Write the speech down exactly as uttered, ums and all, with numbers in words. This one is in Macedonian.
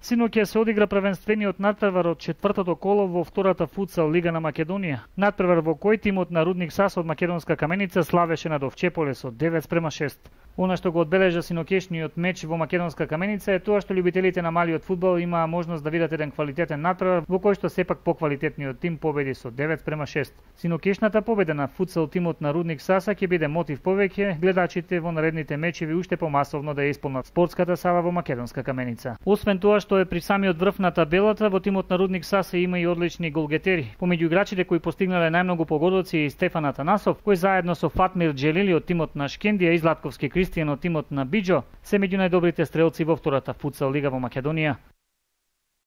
Синоќа се одигра првенствениот натпревар од четвртото коло во втората футсал лига на Македонија. Натпревар во кој тимот на Рудник САС од Македонска Каменица славеше над Овчеполе со девет спрема шест. Она што го одбележа синокешниот меч во Македонска Каменица е тоа што љубителите на малиот фудбал имаа можност да видат еден квалитетен натпревар во кој што сепак поквалитетниот тим победи со девет спрема шест. Синокешната победа на футсал тимот на Рудник САС ќе биде мотив повеќе гледачите во наредните мечеви уште помасовно да ја исполнат спортската сала во Македонска Каменица. Освен тоа што е при самиот врв на табелата, во тимот на Рудник САС има и одлични голгетери. Помеѓу играчите кои постигнале најмногу погодоци и Стефан Атанасов, кој заедно со Фатмир Джелили од тимот на Шкендија и Златковски Кристијан од тимот на Биџо се меѓу најдобрите стрелци во втората футсал лига во Македонија.